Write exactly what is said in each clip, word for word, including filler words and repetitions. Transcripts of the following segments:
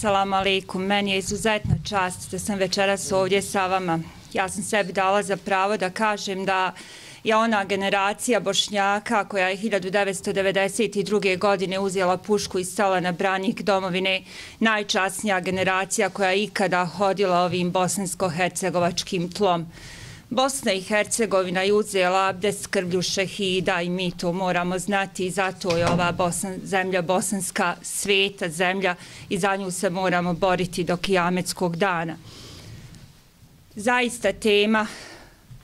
Assalamu alaikum, meni je izuzetna čast da sam večeras ovdje sa vama. Ja sam sebi dala za pravo da kažem da je ona generacija Bošnjaka koja je hiljadu devetsto devedeset druge. godine uzela pušku i stala na branik domovine, najčasnija generacija koja je ikada hodila ovim bosansko-hercegovačkim tlom. Bosna i Hercegovina je uzela abdest krvlju šehida i mi to moramo znati i zato je ova Bosan, zemlja bosanska sveta zemlja i za nju se moramo boriti do kijametskog dana. Zaista tema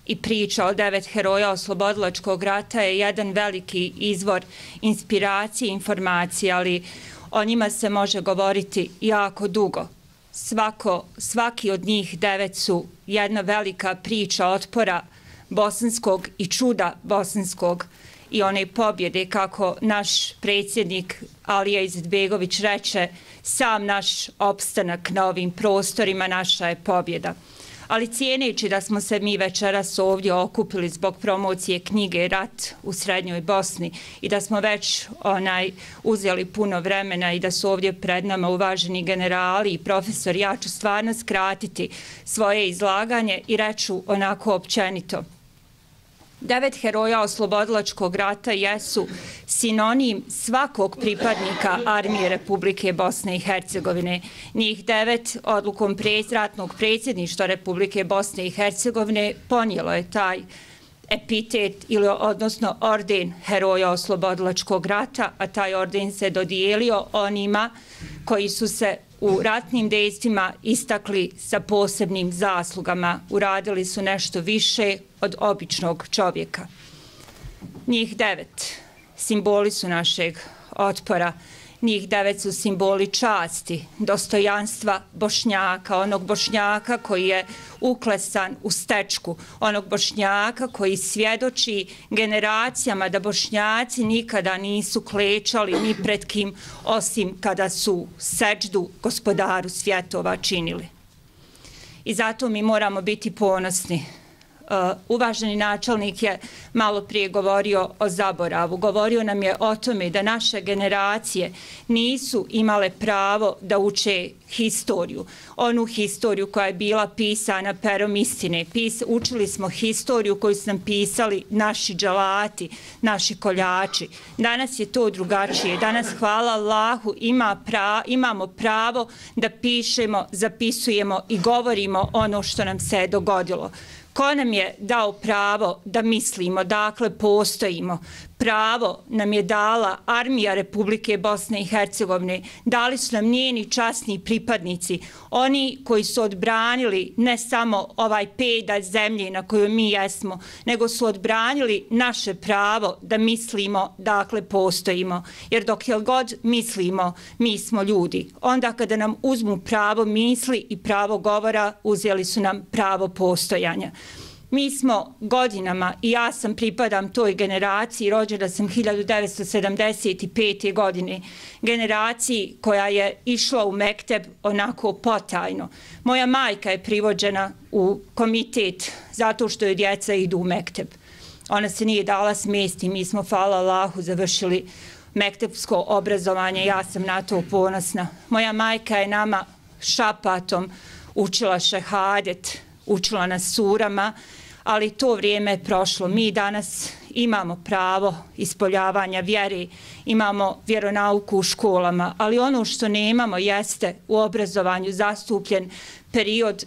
i priča o devet heroja oslobodilačkog rata je jedan veliki izvor inspiracije i informacije, ali o njima se može govoriti jako dugo. Svako, svaki od njih devet su jedna velika priča otpora bosanskog i čuda bosanskog i one pobjede, kako naš predsjednik Alija Izetbegović reče, sam naš opstanak na ovim prostorima naša je pobjeda. Ali cijeneći da smo se mi večeras ovdje okupili zbog promocije knjige Rat u Srednjoj Bosni i da smo već onaj uzeli puno vremena i da su ovdje pred nama uvaženi generali i profesori, ja ću stvarno skratiti svoje izlaganje i reću onako općenito. Devet heroja oslobodilačkog rata jesu sinonim svakog pripadnika armije Republike Bosne i Hercegovine. Njih devet odlukom ratnog predsjedništva Republike Bosne i Hercegovine ponijelo je taj epitet ili odnosno orden heroja oslobodilačkog rata, a taj orden se dodijelio onima koji su se u ratnim dejstvima istakli sa posebnim zaslugama, uradili su nešto više od običnog čovjeka. Njih devet simboli su našeg otpora, njih devet su simboli časti, dostojanstva Bošnjaka, onog Bošnjaka koji je uklesan u stečku, onog Bošnjaka koji svjedoči generacijama da Bošnjaci nikada nisu klečali ni pred kim, osim kada su seđdu gospodaru svjetova činili. I zato mi moramo biti ponosni. Uh, uvaženi načelnik je malo prije govorio o zaboravu. Govorio nam je o tome da naše generacije nisu imale pravo da uče historiju. Onu historiju koja je bila pisana perom istine. Pis, učili smo historiju koju su nam pisali naši dželati, naši koljači. Danas je to drugačije. Danas, hvala Allahu, ima pra, imamo pravo da pišemo, zapisujemo i govorimo ono što nam se je dogodilo. Ko nam je dao pravo da mislimo, dakle postojimo? Pravo nam je dala armija Republike Bosne i Hercegovine, dali su nam njeni časni pripadnici, oni koji su odbranili ne samo ovaj pedalj zemlje na kojoj mi jesmo, nego su odbranili naše pravo da mislimo, dakle postojimo. Jer dok je god mislimo, mi smo ljudi. Onda kada nam uzmu pravo misli i pravo govora, uzeli su nam pravo postojanja. Mi smo godinama, i ja sam pripadam toj generaciji, rođena sam hiljadu devetsto sedamdeset pete. godine, generaciji koja je išla u mekteb onako potajno. Moja majka je privođena u komitet zato što joj djeca idu u mekteb. Ona se nije dala smesti, mi smo, hvala Allahu, završili mektebsko obrazovanje, ja sam na to ponosna. Moja majka je nama šapatom učila šehadet, učila nas surama, ali to vrijeme je prošlo. Mi danas imamo pravo ispoljavanja vjere, imamo vjeronauku u školama, ali ono što nemamo jeste u obrazovanju zastupljen period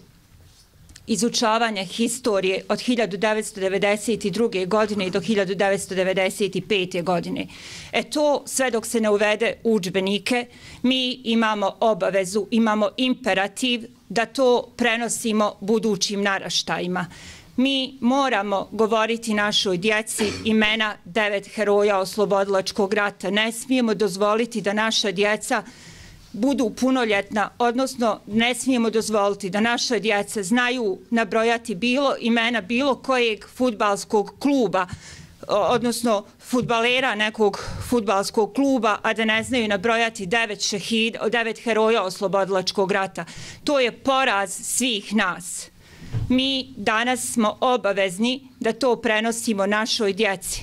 izučavanja historije od hiljadu devetsto devedeset druge. godine do hiljadu devetsto devedeset pete. godine. E to, sve dok se ne uvede u udžbenike, mi imamo obavezu, imamo imperativ da to prenosimo budućim naraštajima. Mi moramo govoriti našoj djeci imena devet heroja oslobodilačkog rata. Ne smijemo dozvoliti da naša djeca budu punoljetna, odnosno ne smijemo dozvoliti da naša djeca znaju nabrojati bilo imena bilo kojeg fudbalskog kluba, odnosno fudbalera nekog fudbalskog kluba, a da ne znaju nabrojati devet šehida, devet heroja oslobodilačkog rata. To je poraz svih nas. Mi danas smo obavezni da to prenosimo našoj djeci.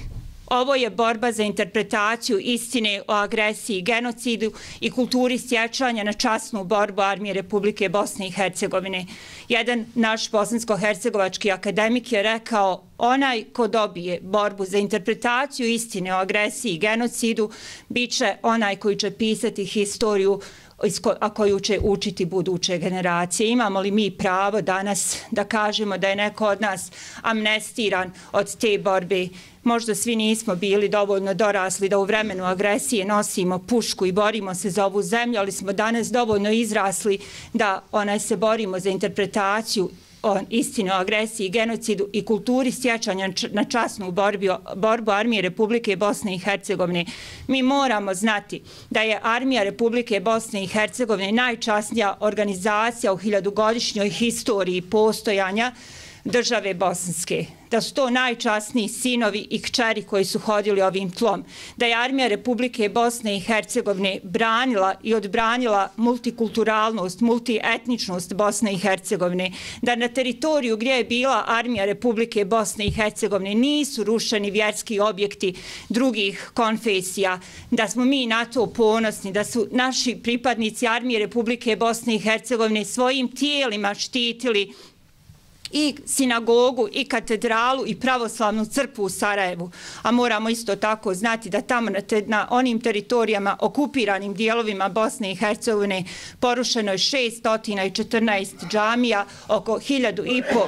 Ovo je borba za interpretaciju istine o agresiji, genocidu i kulturi sjećanja na časnu borbu Armije Republike Bosne i Hercegovine. Jedan naš bosansko-hercegovački akademik je rekao: onaj ko dobije borbu za interpretaciju istine o agresiji i genocidu bit će onaj koji će pisati historiju, a koju će učiti buduće generacije. Imamo li mi pravo danas da kažemo da je neko od nas amnestiran od te borbe? Možda svi nismo bili dovoljno dorasli da u vremenu agresije nosimo pušku i borimo se za ovu zemlju, ali smo danas dovoljno izrasli da onaj se borimo za interpretaciju o istini o agresiji, genocidu i kulturi sjećanja na časnu borbu, borbu Armije Republike Bosne i Hercegovine. Mi moramo znati da je Armija Republike Bosne i Hercegovine najčasnija organizacija u hiljadugodišnjoj historiji postojanja države Bosanske, da su to najčasniji sinovi i kćeri koji su hodili ovim tlom, da je Armija Republike Bosne i Hercegovine branila i odbranila multikulturalnost, multietničnost Bosne i Hercegovine, da na teritoriju gdje je bila Armija Republike Bosne i Hercegovine nisu rušeni vjerski objekti drugih konfesija, da smo mi na to ponosni, da su naši pripadnici Armije Republike Bosne i Hercegovine svojim tijelima štitili i sinagogu, i katedralu, i pravoslavnu crkvu u Sarajevu. A moramo isto tako znati da tamo na, te, na onim teritorijama, okupiranim dijelovima Bosne i Hercegovine, porušeno je šesnaest četrnaest džamija, oko hiljadu i po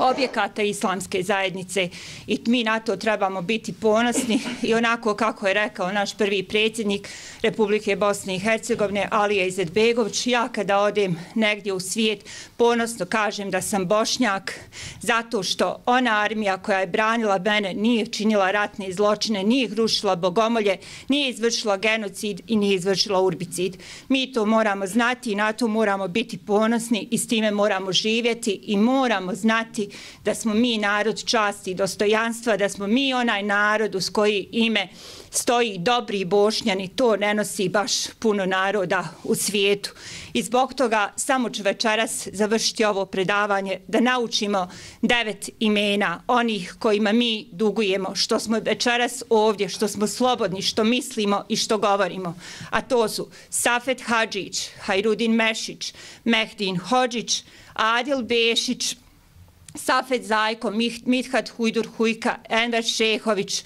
objekata islamske zajednice, i mi na to trebamo biti ponosni. I onako kako je rekao naš prvi predsjednik Republike Bosne i Hercegovine, Alija Izetbegović, ja kada odem negdje u svijet ponosno kažem da sam Bošnjak, zato što ona armija koja je branila mene nije činila ratne zločine, nije rušila bogomolje, nije izvršila genocid i nije izvršila urbicid. Mi to moramo znati i na to moramo biti ponosni i s time moramo živjeti i moramo znati da smo mi narod časti i dostojanstva, da smo mi onaj narod uz koji ime stoji dobri Bošnjani. To ne nosi baš puno naroda u svijetu. I zbog toga samo ću večeras završiti ovo predavanje da naučimo devet imena onih kojima mi dugujemo, što smo večeras ovdje, što smo slobodni, što mislimo i što govorimo. A to su Safet Hadžić, Hajrudin Mešić, Mehdin Hodžić, Adil Bešić, Safet Zajko, Mithat Hujdur Hujka, Enver Šehović,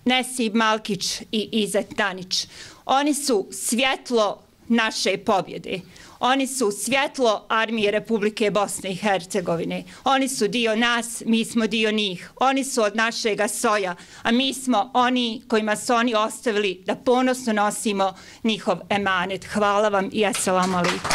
Nesib Malkić i Izet Danić. Oni su svjetlo naše pobjede. Oni su svjetlo Armije Republike Bosne i Hercegovine. Oni su dio nas, mi smo dio njih. Oni su od našega soja, a mi smo oni kojima su oni ostavili da ponosno nosimo njihov emanet. Hvala vam i assalamu alaikum.